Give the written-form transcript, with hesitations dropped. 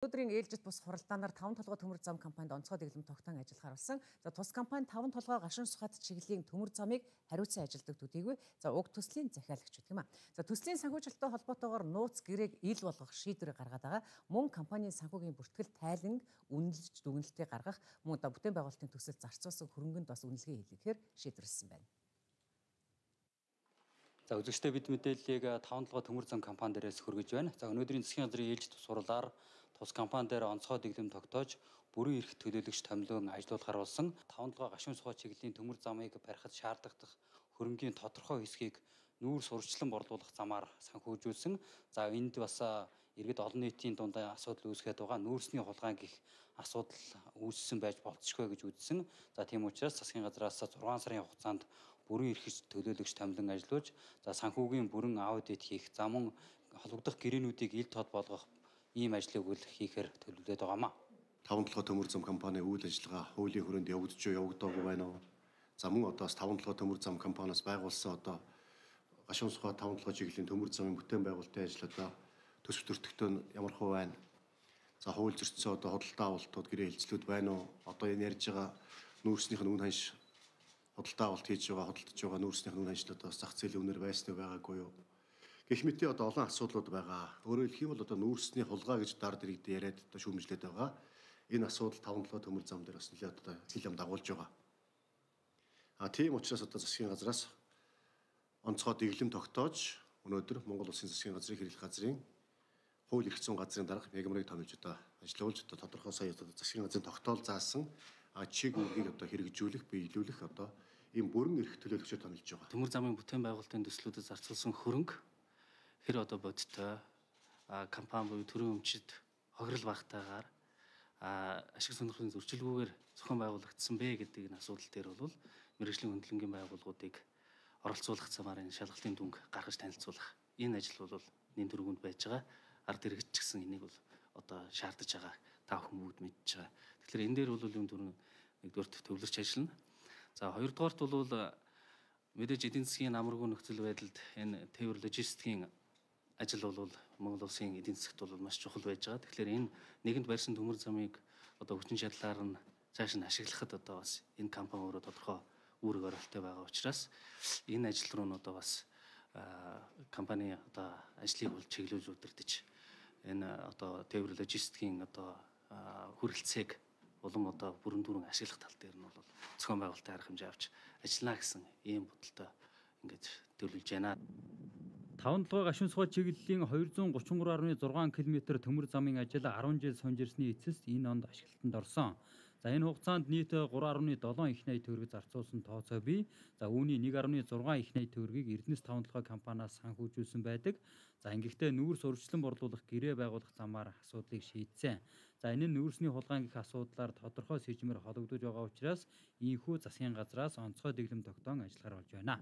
Өнөөдрийн ээлжит бус хуралдаанаар 5 толгой төмөр зам компанид онцгой дэглэм тогтоон ажиллахаар болсон. За тус компани 5 толгой гашуун сухад чиглэлийн төмөр замыг хариуцсан ажилдаг төдийгүй уг төслийн захиалагч гэдэг юм а. За төслийн санхүүжилттэй холбоотойгоор нууц гэрээг ил болгох шийдвэрийг гаргаад байгаа. Мөн компанийн санхүүгийн бүртгэл тайлан үнэлж дүгнэлтээ гаргах мөн бүтээн байгуулалтын төсөл зарцуулсан хөрөнгөнд бас үнэлгээ хийлгэхээр шийдвэрлсэн байна. За үзэгчдээ бид мэдээллийг 5 толгой төмөр зам компани дээрээс хүргэж байна. За өнөөдрийн засгийн газрын ээлжит сурлаар тус компани дээр онцгой дэглэм тогтоож бүрэн эрх төлөөлөгч томилон ажилуулахар болсон 5 толгой гашуун сухад чиглэлийн төмөр замыг барихад шаардлагатай хөрөнгийн тодорхой хэсгийг нүүр сурчлан борлуулах замаар санхүүжүүлсэн. За энд бас иргэд олон нийтийн дунд асуудал үүсгээд байгаа нүүрсний хулгайн гэх асуудал үүссэн байж болцсохгүй гэж үзсэн. За тийм учраас засгийн газраас 6 сарын хугацаанд бүрэн эрхэж төлөөлөгч томилон ажиллаж за санхүүгийн бүрэн аудит хийх, за мөн холбогдох гэрээнүүдийг ил тод болгох ийм ажлыг хийхээр төлөвлөд байгаамаа. 5 толгой төмөр зам компани үйл ажиллагаа хуулийн хүрээнд явагдаж явагдаагүй байна уу? За мөн одоо 5 толгой төмөр зам компаниас байгуулсан одоо гашуун сухад 5 толгой чиглэлийн төмөр замын бүтээн байгуулалтын ажил одоо төсөв төртөгтөө ямар хөө байна? За хууль зөрчсөн одоо худалдаа авалтууд гэрээ хэлцлүүд байна уу? Одоо энэ ярьж байгаа нүүрснийх нь үн ханш худалдаа авалт хийж байгаа худалдаж байгаа нүүрснийх нь үн ханшлуудаас зах зээлийн үнээр байсны байгаагүй юу? Гэх мэт одоо олон асуудлууд байгаа. Өөрөөр хэлэх юм бол одоо нүүрсний хулгай гэж дард иргэд яриад одоо шүүмжлээд байгаа. Энэ асуудал 5 толгой төмөр зам дээр бас нэлээд одоо хил ам дагуулж байгаа. Тийм учраас одоо засгийн газраас онцгой дэглэм тогтоож өнөөдөр Монгол Улсын засгийн газрын хэрэглэх газрын хууль эрх зүйн газрын дарга мегмарыг томилж одоо ажиллуулж одоо тодорхой сая одоо засгийн газрын тогтоол заасан чиг үүргийг одоо хэрэгжүүлэх, биелүүлэх одоо ийм бүрэн эрх төлөөлөгчөөр томилж байгаа. Төмөр замын бүтээн байгуулалтын төслүүдэд зарцуулсан хөрөнгө хэр одоо бодиттой компани буюу төрийн өмчид хохирол багтаагаар ашиг сонирхлын зөрчилгүйгээр зохион байгуулагдсан бэ гэдэг энэ асуудал дээр бол мэргэжлийн хөндлөнгийн байгууллагуудыг оролцуулах замаар энэ шалгалтын дүнг гаргаж танилцуулах энэ ажил бол нэн төргөнд байж байгаа. Ард иргэд ч гэсэн энийг бол одоо шаардаж байгаа. Та бүхэн бүгд мэдж байгаа. Тэгэхээр энэ дээр бол юм түрүүн нэгдүгээрт төвлөрч ажиллана. За хоёрдугаарт бол мэдээж эдийн засгийн амаргүй нөхцөл байдалд энэ тээвэр логистикийн ажил бол Монгол Улсын эдийн засгт бол маш чухал байж байгаа. Тэгэхээр энэ нэгэнд барьсан төмөр замыг одоо хүчин чадлаар нь цааш нь ашиглахад одоо бас энэ компани өөрөө тодорхой үүрэг оролттой байгаа учраас энэ ажил руу нь одоо бас компани одоо ажлыг бол чиглүүлж удирдах энэ одоо тээвэр логистикийн одоо хүрэлцээг улам одоо бүрэн дүрэн ашиглах тал дээр нь бол зохион байгуулалтын арга хэмжээ авч ажиллана гэсэн ийм бодолтой ингэж төлөвлөж байна. 5 толгой гашуун сухад чиглэлийн 233.6 км төмөр замын ажил 10 жил сунж ирсний эцэст энэ онд ашиглалтанд орсон. За энэ хугацаанд нийт 3.7 их найт төгрөг зарцуулсан тооцоо бий. За үүний 1.6 их найт төгрөгийг Эрдэнэс 5 толгой компаниас санхүүжүүлсэн байдаг. За ингэхдээ нүүрс урьдчилан борлуулах гэрээ байгуулах замаар асуудлыг шийдсэн. За энэ нь нүүрсний хулгайн гэх асуудлаар тодорхой сэжмээр холбогдож байгаа учраас ийхүү засгийн газраас онцгой дэглэм тогтоон ажиллахаар болж байна.